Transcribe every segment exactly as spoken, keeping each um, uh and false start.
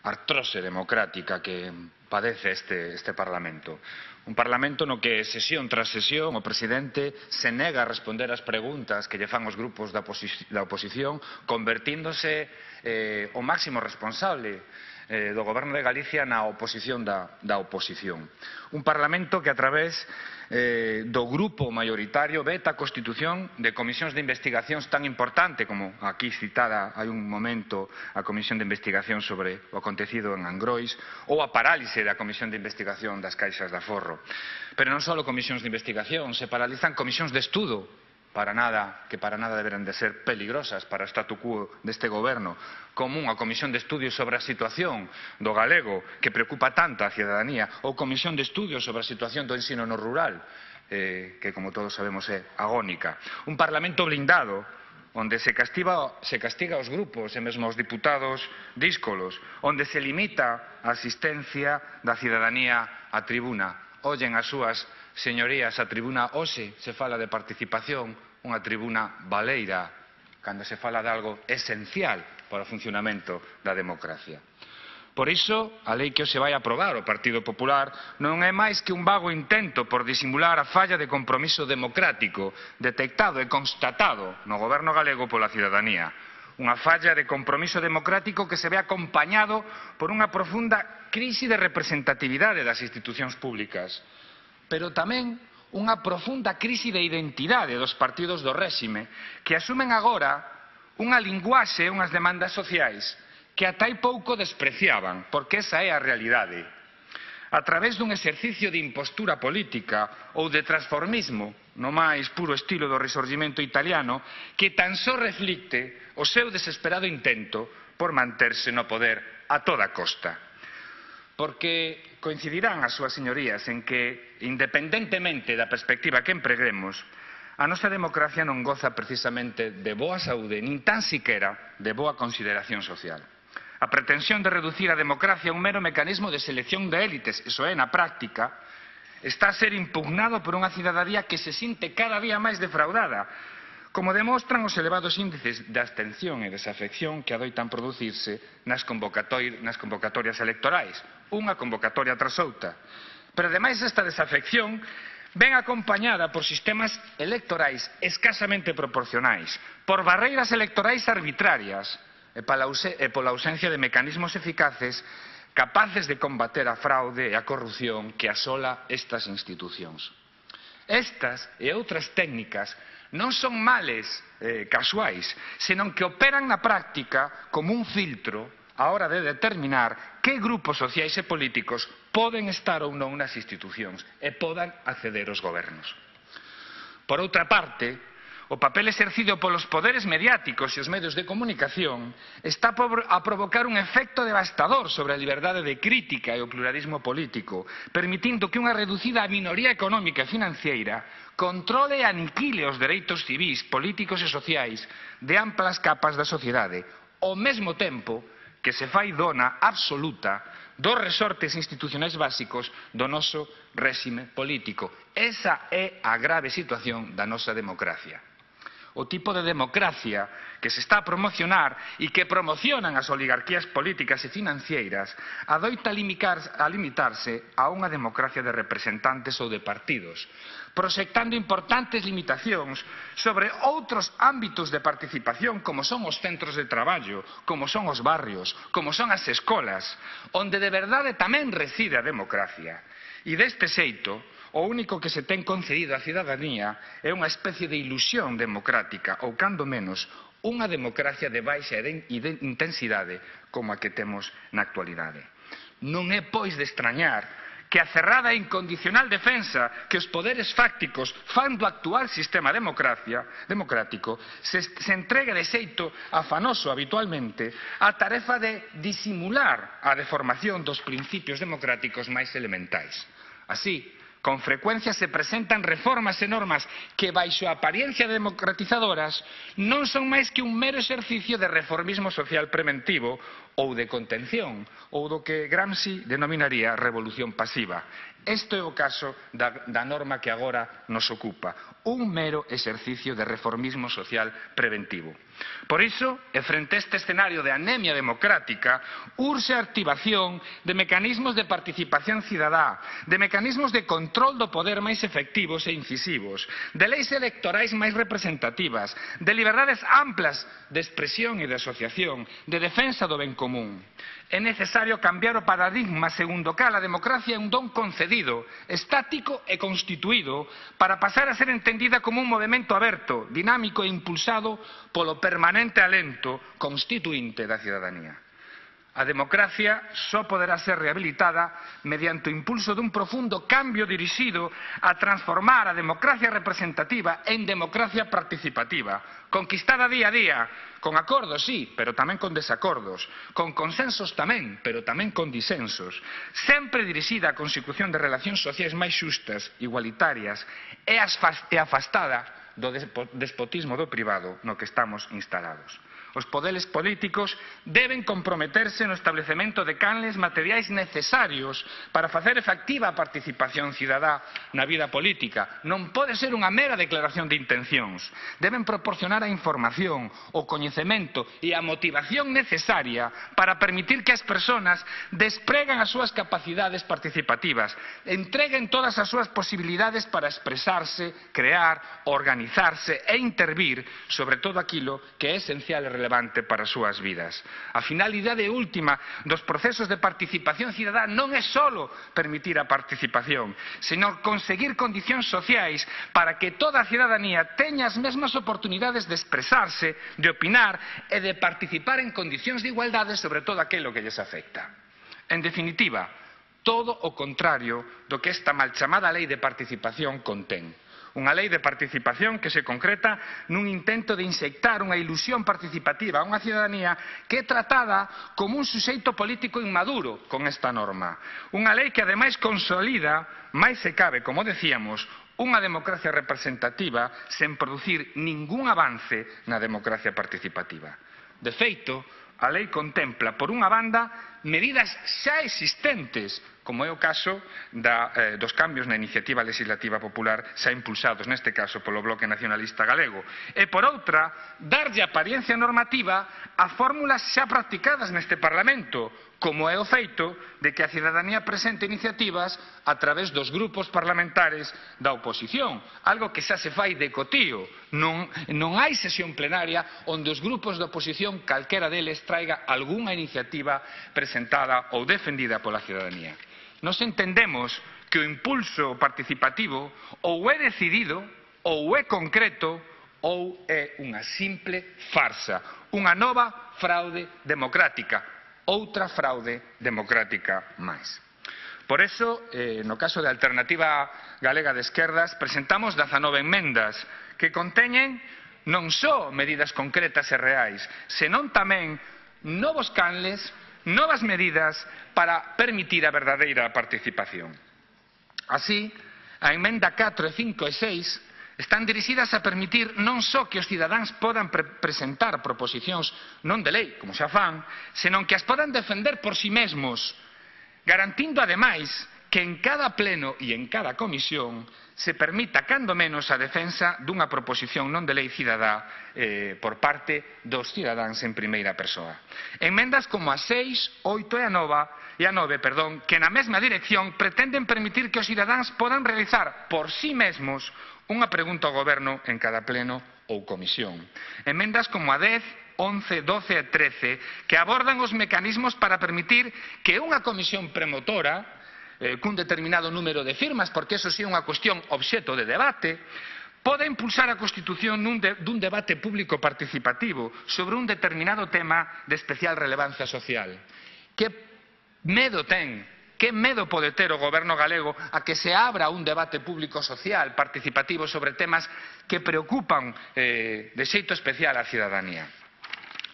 artrose democrática que padece este, este Parlamento. Un Parlamento no que sesión tras sesión o Presidente se nega a responder as preguntas que lle fan os grupos da, oposi da oposición, convertíndose eh, o máximo responsable eh, do Goberno de Galicia na oposición da, da oposición. Un Parlamento que a través eh, do grupo maioritario veta a constitución de comisións de investigacións tan importante como aquí citada hai un momento a Comisión de Investigación sobre o acontecido en Angrois ou a parálise da Comisión de Investigación das Caixas de Aforro. Pero non só comisións de investigación, se paralizan comisións de estudo para nada, que para nada deberán de ser peligrosas para o statu quo deste goberno, como unha comisión de estudios sobre a situación do galego que preocupa tanto a cidadanía, ou comisión de estudios sobre a situación do ensino no rural, eh, que como todos sabemos é agónica. Un Parlamento blindado, onde se castiga, se castiga aos grupos e mesmo aos diputados díscolos, onde se limita a asistencia da cidadanía á tribuna. Ollen as súas señorías a tribuna hoxe, se fala de participación, unha tribuna baleira, cando se fala de algo esencial para o funcionamento da democracia. Por iso, a lei que hoxe vai aprobar o Partido Popular non é máis que un vago intento por disimular a falla de compromiso democrático detectado e constatado no goberno galego pola cidadanía. Unha falla de compromiso democrático que se ve acompañado por unha profunda crise de representatividade das institucións públicas, pero tamén unha profunda crise de identidade dos partidos do réxime que asumen agora unha linguaxe e unhas demandas sociais que ata hai pouco despreciaban, porque esa é a realidade. A través dun exercicio de impostura política ou de transformismo, no máis puro estilo do Risorgimento italiano, que tan só reflicte o seu desesperado intento por manterse no poder a toda costa. Porque coincidirán as súas señorías en que, independentemente da perspectiva que empreguemos, a nosa democracia non goza precisamente de boa saúde, nin tan siquera de boa consideración social. A pretensión de reducir a democracia a un mero mecanismo de selección de élites, iso é, na práctica, está a ser impugnado por unha cidadanía que se sinte cada día máis defraudada, como demostran os elevados índices de abstención e desafección que adoitan producirse nas convocatorias electorais, unha convocatoria tras outra. Pero, ademais, esta desafección ven acompañada por sistemas electorais escasamente proporcionais, por barreiras electorais arbitrarias e pola ausencia de mecanismos eficaces capaces de combater a fraude e a corrupción que asola estas institucións. Estas e outras técnicas non son males eh, casuais, senón que operan na práctica como un filtro á hora de determinar que grupos sociais e políticos poden estar ou non nas institucións e podan acceder aos gobernos. Por outra parte, o papel exercido polos poderes mediáticos e os medios de comunicación está a provocar un efecto devastador sobre a liberdade de crítica e o pluralismo político, permitindo que unha reducida minoría económica e financiera controle e aniquile os dereitos civís, políticos e sociais de amplas capas da sociedade, ao mesmo tempo que se fai dona absoluta dos resortes institucionais básicos do noso réxime político. Esa é a grave situación da nosa democracia. O tipo de democracia que se está a promocionar e que promocionan as oligarquías políticas e financeiras adoita a limitarse a unha democracia de representantes ou de partidos, proxectando importantes limitacións sobre outros ámbitos de participación como son os centros de traballo, como son os barrios, como son as escolas, onde de verdade tamén reside a democracia. E deste xeito, o único que se ten concedido á cidadanía é unha especie de ilusión democrática, ou cando menos, unha democracia de baixa intensidade como a que temos na actualidade. Non é, pois, de extrañar que a cerrada e incondicional defensa que os poderes fácticos fan do actual sistema democrático se, se entregue de xeito afanoso habitualmente a tarefa de disimular a deformación dos principios democráticos máis elementais. Así, con frecuencia se presentan reformas e normas que, baixo a apariencia democratizadoras, non son máis que un mero exercicio de reformismo social preventivo ou de contención, ou do que Gramsci denominaría revolución pasiva. Este é o caso da, da norma que agora nos ocupa, un mero exercicio de reformismo social preventivo. Por iso, e frente a este escenario de anemia democrática, urxe a activación de mecanismos de participación cidadá, de mecanismos de control do poder máis efectivos e incisivos, de leis electorais máis representativas, de liberdades amplas de expresión e de asociación, de defensa do ben común. É necesario cambiar o paradigma segundo cal a democracia é un don concedido, estático e constituído para pasar a ser entendida como un movimento aberto, dinámico e impulsado polo permanente alento constituínte da cidadanía. A democracia só poderá ser rehabilitada mediante o impulso dun profundo cambio dirixido a transformar a democracia representativa en democracia participativa, conquistada día a día, con acordos, sí, pero tamén con desacordos, con consensos tamén, pero tamén con disensos, sempre dirixida á consecución de relacións sociais máis xustas, igualitarias e afastada do despotismo do privado no que estamos instalados. Os poderes políticos deben comprometerse no establecemento de canles materiais necesarios para facer efectiva a participación cidadá na vida política. Non pode ser unha mera declaración de intencións. Deben proporcionar a información, o coñecemento e a motivación necesaria para permitir que as persoas despregan as súas capacidades participativas, entreguen todas as súas posibilidades para expresarse, crear, organizarse e intervir sobre todo aquilo que é esencial e relevante para as súas vidas. A finalidade última dos procesos de participación cidadá non é só permitir a participación, senón conseguir condicións sociais para que toda a cidadanía teña as mesmas oportunidades de expresarse, de opinar e de participar en condicións de igualdade sobre todo aquilo que lles afecta. En definitiva, todo o contrario do que esta mal chamada lei de participación contén. Unha lei de participación que se concreta nun intento de inxectar unha ilusión participativa a unha cidadanía que é tratada como un suxeito político inmaduro con esta norma. Unha lei que ademais consolida, máis se cabe, como decíamos, unha democracia representativa sen producir ningún avance na democracia participativa. De feito, a lei contempla, por unha banda, medidas xa existentes, como é o caso da, eh, dos cambios na iniciativa legislativa popular xa impulsados, neste caso, polo Bloque Nacionalista Galego. E, por outra, darlle apariencia normativa a fórmulas xa practicadas neste Parlamento, como é o feito de que a cidadanía presente iniciativas a través dos grupos parlamentares da oposición, algo que xa se fai de cotío. Non, non hai sesión plenaria onde os grupos da oposición, calquera deles, traiga algunha iniciativa presentada ou defendida pola cidadanía. Nos entendemos que o impulso participativo ou é decidido, ou é concreto, ou é unha simple farsa, unha nova fraude democrática, outra fraude democrática máis. Por eso, eh, no caso da Alternativa Galega de Esquerdas, presentamos dezanove enmendas que conteñen non só medidas concretas e reais, senón tamén novos canles, novas medidas para permitir a verdadeira participación. Así, a emenda catro, cinco e seis están dirixidas a permitir non só que os cidadáns podan pre presentar proposicións non de lei, como xa fan, senón que as podan defender por si mesmos, garantindo ademais que en cada pleno e en cada comisión se permita, cando menos, a defensa dunha proposición non de lei cidadá eh, por parte dos cidadáns en primeira persoa. Enmendas como a seis, oito e a nove, e a nove, perdón, que na mesma dirección pretenden permitir que os cidadáns podan realizar por si mesmos unha pregunta ao Goberno en cada pleno ou comisión. Enmendas como a dez, once, doce e trece que abordan os mecanismos para permitir que unha comisión premotora eh, cun determinado número de firmas, porque eso sí é unha cuestión obxeto de debate, poda impulsar a constitución nun de, dun debate público participativo sobre un determinado tema de especial relevancia social. Que medo ten Que medo pode ter o Goberno galego a que se abra un debate público social participativo sobre temas que preocupan eh, de xeito especial á cidadanía?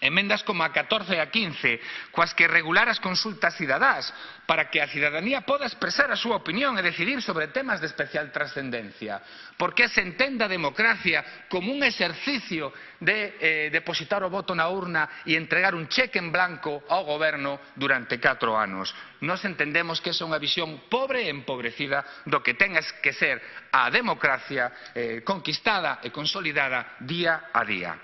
emendas como a catorce e a quince, coas que regular as consultas cidadás para que a cidadanía poda expresar a súa opinión e decidir sobre temas de especial trascendencia. Porque se entende a democracia como un exercicio de eh, depositar o voto na urna e entregar un cheque en blanco ao goberno durante catro anos. Nós entendemos que esa é unha visión pobre e empobrecida do que ten que ser a democracia eh, conquistada e consolidada día a día.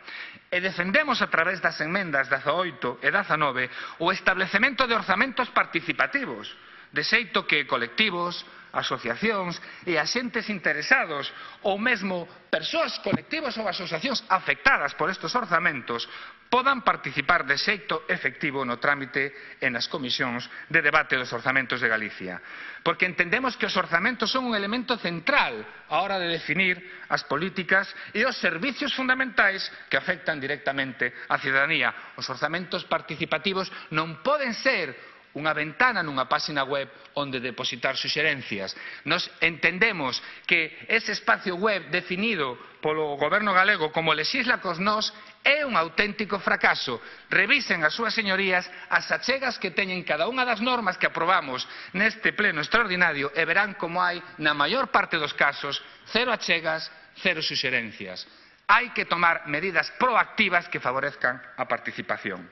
E defendemos a través das emendas dezaoito e dezanove o establecemento de orzamentos participativos, de xeito que colectivos, asociacións e axentes interesados ou mesmo persoas, colectivos ou asociacións afectadas por estes orzamentos podan participar de xeito efectivo no trámite e nas comisións de debate dos orzamentos de Galicia. Porque entendemos que os orzamentos son un elemento central á hora de definir as políticas e os servicios fundamentais que afectan directamente á cidadanía. Os orzamentos participativos non poden ser unha ventana nunha páxina web onde depositar suxerencias. Nos entendemos que ese espacio web definido polo goberno galego como Lexisla cos nós é un auténtico fracaso. Revisen as súas señorías as achegas que teñen cada unha das normas que aprobamos neste pleno extraordinario e verán como hai, na maior parte dos casos, cero achegas, cero suxerencias. Hai que tomar medidas proactivas que favorezcan a participación.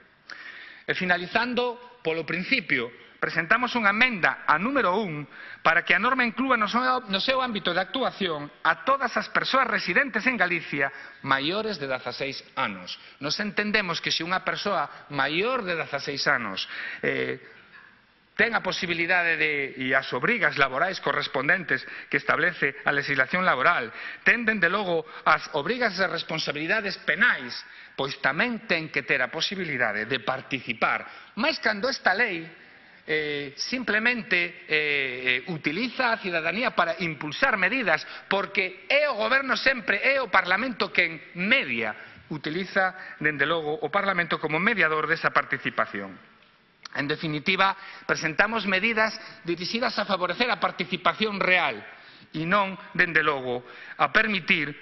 E finalizando, polo principio, presentamos unha emenda a número un para que a norma inclúa no seu, no seu ámbito de actuación a todas as persoas residentes en Galicia maiores de dezaseis anos. Nos entendemos que se unha persoa maior de dezaseis anos eh, ten a posibilidade de, e as obrigas laborais correspondentes que establece a legislación laboral, ten, dende logo, as obrigas e responsabilidades penais, pois tamén ten que ter a posibilidade de participar. Mais cando esta lei eh, simplemente eh, utiliza a cidadanía para impulsar medidas, porque é o goberno sempre, é o Parlamento quen media, utiliza, dende logo, o Parlamento como mediador desa participación. En definitiva, presentamos medidas dirixidas a favorecer a participación real e non, dende logo, a permitir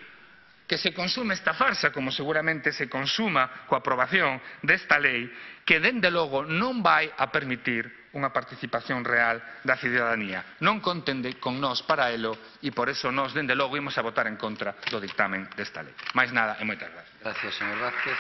que se consume esta farsa, como seguramente se consuma coa aprobación desta lei, que, dende logo, non vai a permitir unha participación real da cidadanía. Non conten con nós para elo e, por eso, nós, dende logo, imos a votar en contra do dictamen desta lei. Mais nada e moitas gracias. Gracias, señor Vázquez.